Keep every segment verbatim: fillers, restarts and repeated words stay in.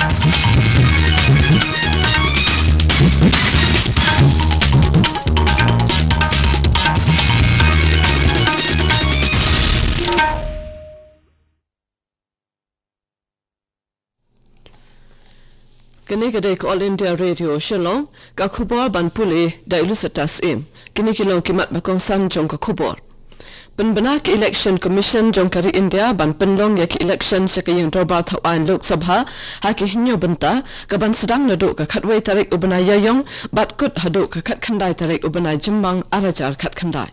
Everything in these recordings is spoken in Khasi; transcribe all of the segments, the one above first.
Kane ka dei ka All India Radio Shillong, ka khubor ban pule da i Lucitas Im. Kine ki long ki mat ba kongsan jong ka khubor. Pynbna ka Election Commission jong ka ri India ban pynlong ïa ki election sha ka ïing dorbar thaw aiñ Lok Sabha ha ki hynñiew bynta, ka ban sdang naduh ka khatwei tarik u bnai Ïaïong bad kut haduh ka khatkhyndai tarik u bnai Jymmang ar hajar khatkhyndai.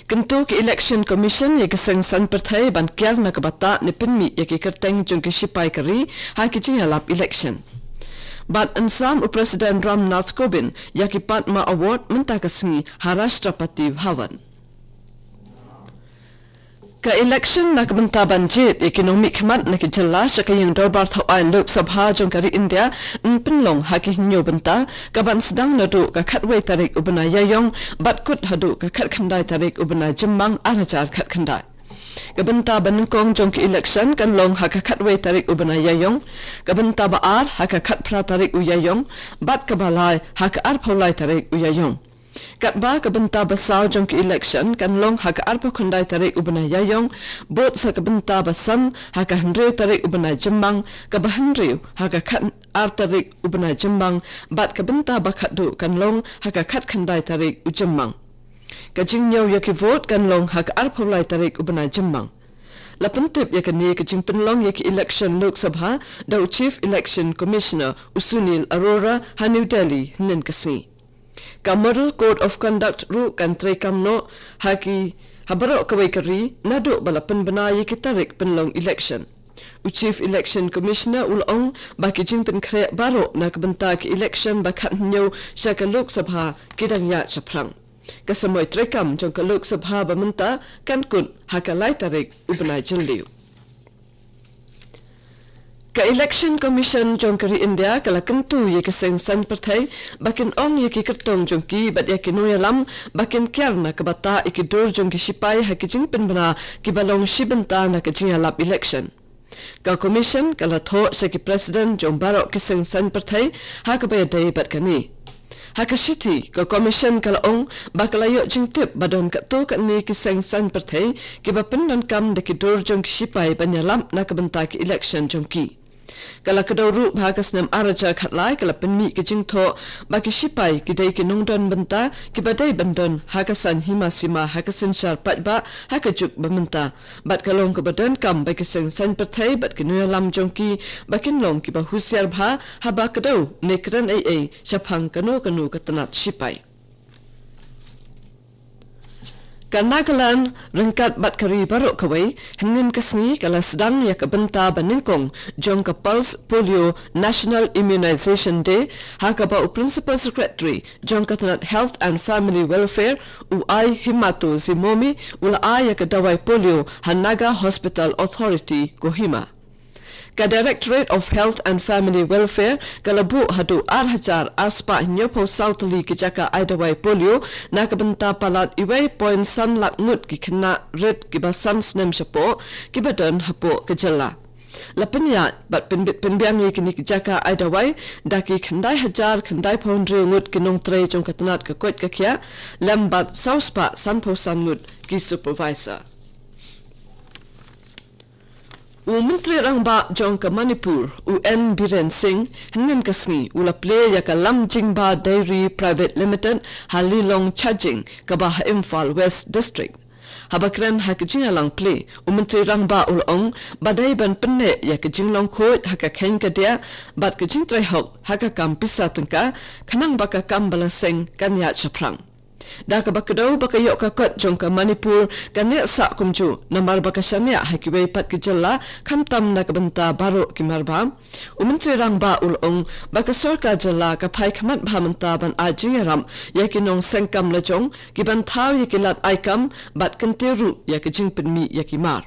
Kyntu ka Election Commission ïa ki seng saiñ pyrthei ban kiar na ka bynta ne pynmih ïa ki kyrteng jong ki shipai ka ri ha ki jingïalap election. Bad yn sam u President Ram Nath Kovind ïa ki Padma Award mynta ka sngi ha Rashtrapati Bhavan. Ka election na ka bynta ban jied ïa ki nongmihkhmat na ki jylla sha ka ïing dorbar thaw aiñ Lok Sabha jong ka ri India yn pynlong ha ki hynñiew bynta, ka ban sdang naduh ka khatwei tarik u bnai Ïaïong bad kut haduh ka khatkhyndai tarik u bnai Jymmang ar hajar khatkhyndai. Ka bynta ba nyngkong jong ka election kan long ha ka khatwei tarik u bnai Ïaïong, ka bynta ba ar ha ka khatphra tarik u Ïaïong bad kaba lai ha ka arphew lai tarik u Ïaïong. Katba ka bynta ba saw jong ka election kan long ha ka arphew khyndai tarik u bnai Ïaïong, bud sa ka bynta ba san ha ka hynriew tarik u bnai Jymmang, kaba hynriew ha ka khat ar tarik u bnai Jymmang, bad ka bynta ba khatduh kan long ha ka khatkhyndai tarik u Jymmang. Ka jingñiew ïa ki vote kan long ha ka arphew lai tarik u bnai Jymmang. La pyntip ïa kane ka jingpynlong ïa ka election Lok Sabha da u Chief Election Commissioner u Sunil Arora ha New Delhi hynnin ka sngi. Ka Model Code of Conduct ruh kan treikam noh ha ki, ha baroh kawei ka ri naduh ba la pynbna ïa ki tarik pynlong election. U Chief Election Commissioner u la ong ba ki jingpynkhreh baroh na ka bynta ka election ba khathynñiew sha ka Lok Sabha ki dang ïaid shaphrang. Ka samoi treikam jong ka Lok Sabha ba mynta kan kut ha ka lai tarik u bnai Jylliew. Ka Election Commission jong ka ri India ka la kyntu ïa ki seng saiñ pyrthei ba kin ong ïa ki kyrtong jong ki bad ïa ki nongïalam ba kin kiar na ka bynta ïa ki dur jong ki shipai ha ki jingpynbna kiba long shi bynta na ka jingïalap election. Ka Commission ka la thoh sha ki President jong baroh ki seng saiñ pyrthei ha kaba ïadei bad kane. Ha ka shithi, ka Commission ka la ong ba ka la ïoh jingtip ba don katto katne ki seng saiñ pyrthei kiba pyndonkam da ki dur jong ki shipai ban ïalam na ka bynta ki election jong ki. Ka la kdew ruh ba ha ka snem ar hajar khatlai ka la pynmih ka jingthoh ba ki shipai ki dei ki nongdon bynta kiba dei ban don ha ka saiñ hima sima ha ka synshar paidbah ha ka juk ba mynta. Bad ka long kaba donkam ba ki seng saiñ pyrthei bad ki nongïalam jong ki ba kin long kiba husiar bha haba kdew ne kren ei ei shaphang kano kano ka tnat shipai. Ka Nagaland ryngkat bad ka ri baroh kawei hynnin ka sngi ka la sdang ïa ka bynta ba nyngkong jong ka Pulse Polio National Immunization Day, ha kaba u Principal Secretary jong ka tnat Health and Family Welfare, u I Himato Zimomi, u la ai ïa ka dawai polio ha Naga Hospital Authority, Kohima. Ka Directorate of Health and Family Welfare ka la buh haduh ar hajar ar spah hynñiewphew saw tylli ki jaka ai dawai polio na ka bynta palat uwei point san lak ngut ki khynnah rit kiba san snem shapoh kiba don hapoh ka jylla. La pynïaid bad pynbit pynbiang ïa kine ki jaka ai dawai da ki khyndai hajar khyndaiphew hynriew ngut ki nongtrei jong ka tnat ka koit ka khiah lem bad saw spah sanphew san ngut ki supervisor. U Myntri Rangbah jong ka Manipur, u N Biren Singh, hynnin ka sngi u la plie ïa ka Lamjingba Dairy Private Limited ha Lilong Chajing, kaba ha Imphal West District. Haba kren ha ka jingïalang plie, u Myntri Rangbah u la ong ba dei ban pynneh ïa ka jinglong khuid ha ka kheiñ ka diah bad ka jingtrei hok ha ka kam pisa tyngka, khnang ba ka kam ba la seng kan ïaid shaphrang. Da kaba kdew ba ka ïoh ka kot jong ka Manipur ka neh sah kumjuh namar ba ka shaniah ha kiwei pat ki jylla khamtam na ka bynta baroh ki marbam. U Myntri Rangbah u la ong ba ka sorkar jylla ka phai khmat bha mynta ban ai jingïarap ïa ki nongseng kam lajong, ki ban thaw ïa ki lad ai kam bad kyntiew ruh ïa ka jingpynmih ïa ki mar.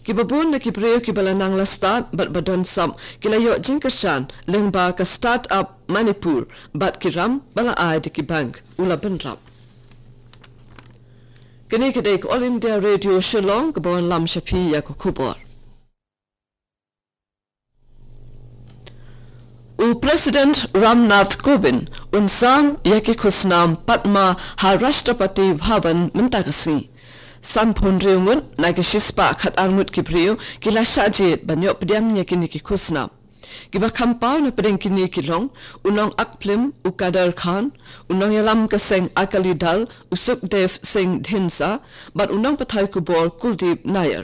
Kiba bun na ki briew kiba la nang la stad bad ba don sap ki la ïoh jingkyrshan lyngba ka Start Up Manipur bad ki ram ba la ai da ki bank, u la bynrap. Kane ka dei ka All India Radio Shillong kaba wanlam sha phi ïa ka khubor. U President Ramnath Kovind un sam ïa ki khusnam Padma ha Rashtrapati Bhavan mynta ka sngi. Sanphew hynriew ngut na ki shispah khatar ngut ki briew ki la shah jied ban ïoh pdiang ïa kine ki khusnam. Kiba kham paw na pdeng kine ki long u nong act film u Kader Khan, u nongïalam ka seng Akali Dal u Sukhdev Singh Dhindsa, bad u nongpathai khubor Kuldeep Nair.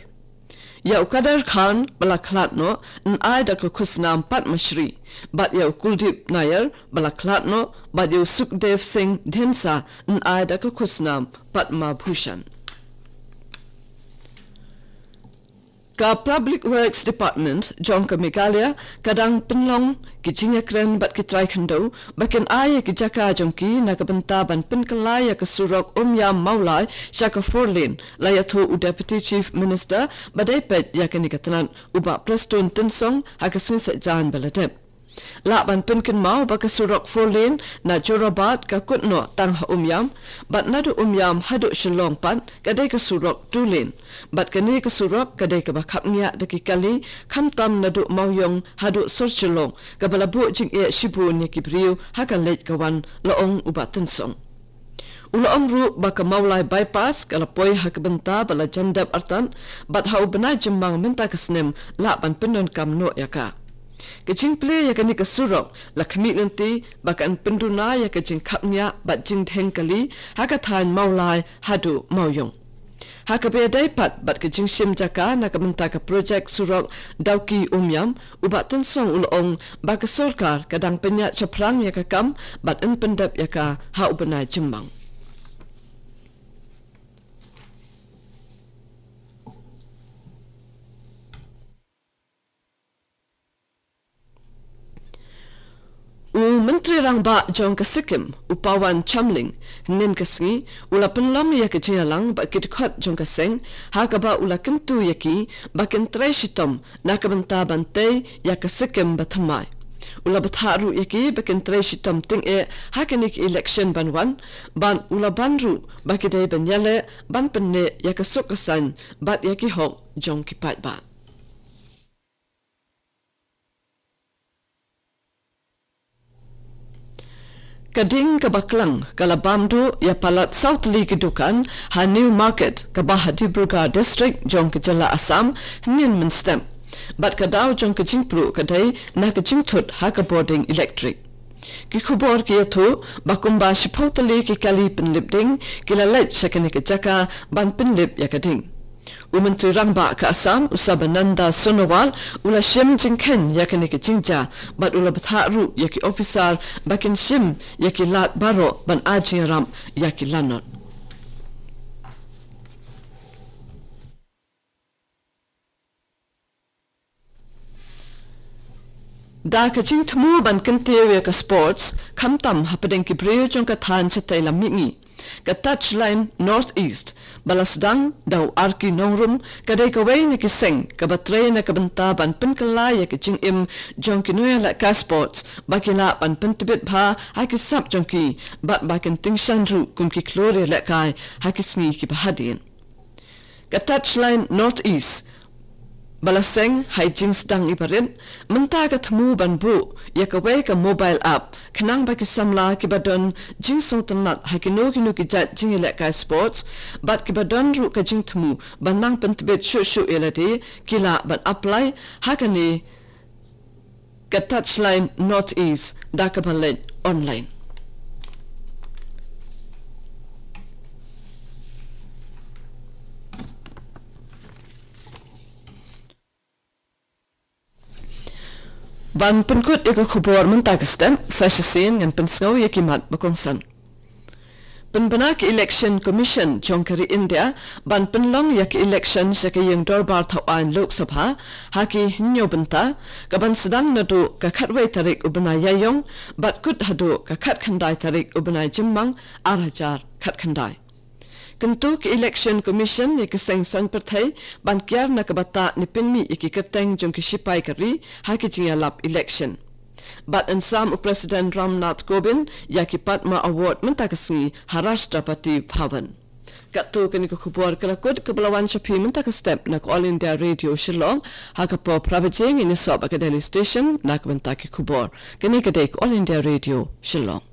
Ïa u Kader Khan ba la khlad noh yn ai da ka khusnam Padma Shri, bad ïa u Kuldeep Nair ba la khlad noh bad ïa u Sukhdev Singh Dhindsa yn ai da ka khusnam Padma Bhushan. Ka Public Works Department jong ka Meghalaya ka dang pynlong ki jingïakren bad ki trai khyndew ba kin ai ïa ki jaka jong ki na ka bynta ban pynkylla ïa ka surok Umiam Mawlai sha ka four lane, la ïathuh u Deputy Chief Minister ba dei peit ïa kane ka tnat, u Bah Prestone Tynsong, ha ka sngi Saitjaiñ ba la dep. Lah ban pynkynmaw ba ka surok four lane na Jorabat ka kut noh tang ha Umiam, bad naduh Umiam haduh Shillong pat ka dei ka surok two lane. Bad kane ka surok ka dei kaba khapngiah da ki kali, khamtam naduh Mawïong haduh sor Shillong, kaba la buh jingeh shibun ïa ki briew ha ka leit ka wan, la ong u Bah Tynsong. U la ong ruh ba ka Mawlai Bypass ka la poi ha ka bynta ba la jan dep artat, bad ha u bnai Jymmang mynta ka snem lah ban pyndonkam noh ïa ka. Ka jingplie ïa kane ka surok la khmih lynti ba kan pynduna ïa ka jingkhapngiah bad jingdheng kali ha ka thaiñ Mawlai haduh Mawïong. Ha kaba ïadei pat bad ka jingshim jaka na ka bynta ka projek surok Dawki Umiam, u Bah Tynsong u la ong ba ka sorkar ka dang pynïaid shaphrang ïa ka kam bad yn pyndep ïa ka ha u bnai Jymmang. U Myntri Rangbah jong ka Sikkim, u Pawan Chamling, hynnin ka sngi u la pynlong ïa ka jingïalang bad ki dkhot jong ka seng, ha kaba u la kyntu ïa ki ba kin trei shitom na ka bynta ban tei ïa ka Sikkim ba thymmai. U la bthah ruh ïa ki ba kin trei shitom tyngeh ha kine ki election ban wan, bad u la ban ruh ba ki dei ban ïaleh ban pynneh ïa ka suk ka saiñ bad ïa ki hok jong ki paidbah. Ka ding kaba klang ka la bam duh ïa palat saw tylli ki dukan ha New Market kaba ha Dibrugarh District jong ka jylla Assam hynnin mynstep. Bad ka daw jong ka jingpluh ka dei na ka jingthut ha ka bording elektrik. Ki khubor ki ïathuh ba kumba shiphew tylli ki kali pynlip ding ki la leit sha kane ka jaka ban pynlip ïa ka ding. U Myntri Rangbah ka Assam, u Sarbananda Sonowal, u la shim jingkheiñ ïa kane ka jingjia, bad u la bthah ruh ïa ki ophisar ba kin shim ïa ki lad baroh ban ai jingïarap ïa ki lanot. Da ka jingthmu ban kyntiew ïa ka sports, khamtam hapdeng ki briew jong ka thaiñ shatei lam mihngi, ka Touchline North East, ba la sdang da u Arki Nongrum, ka dei kawei na ki seng kaba trei na ka bynta ban pynkylla ïa ka jingim jong ki nongïalehkai sports, ba ki lah ban pyntbit bha ha ki sap jong ki, bad ba kin tyngshaiñ ruh kum ki khlur ïalehkai ha ki sngi kiba hadien. Ka Touchline North East, ba la seng ha i jingsdang iba rit, mynta ka thmu ban buh ïa kawei ka mobile app, khnang ba ki samla kiba don jingsngewtynnat ha kino kino ki jait jingïalehkai sports, bad kiba don ruh ka jingthmu ban nang pyntbit shuh shuh ïa lade, ki lah ban apply ha kane ka Touchline North East da kaba leit online. Ban pynkut ïa ka khubor mynta ka step, sa shisien ngan pynsngew ïa ki mat ba kongsan. Pynbna ka Election Commission jong ka ri India ban pynlong ïa ka election sha ka ïing dorbar thaw aiñ Lok Sabha ha ki hynñiew bynta, ka ban sdang naduh ka khatwei tarik u bnai Ïaïong bad kut haduh ka khatkhyndai tarik u bnai Jymmang ar hajar khatkhyndai. Kyntu ka Election Commission ïa ka seng saiñ pyrthei ban kiar na ka bata ne pynmih ïa ki kyrteng jong ki shipai ka ri ha ki jingïalap election. Bad yn sam u President Ramnath Kovind ïa ki Padma Award mynta ka sngi ha Rashtrapati Bhavan. Katto katne ka khubor ka la kut kaba la wan sha phi mynta ka step na ka All India Radio Shillong. Ha ka por phra baje ngin ïasoh bad ka Delhi Station na ka bynta ki khubor. Kane ka dei ka All India Radio Shillong.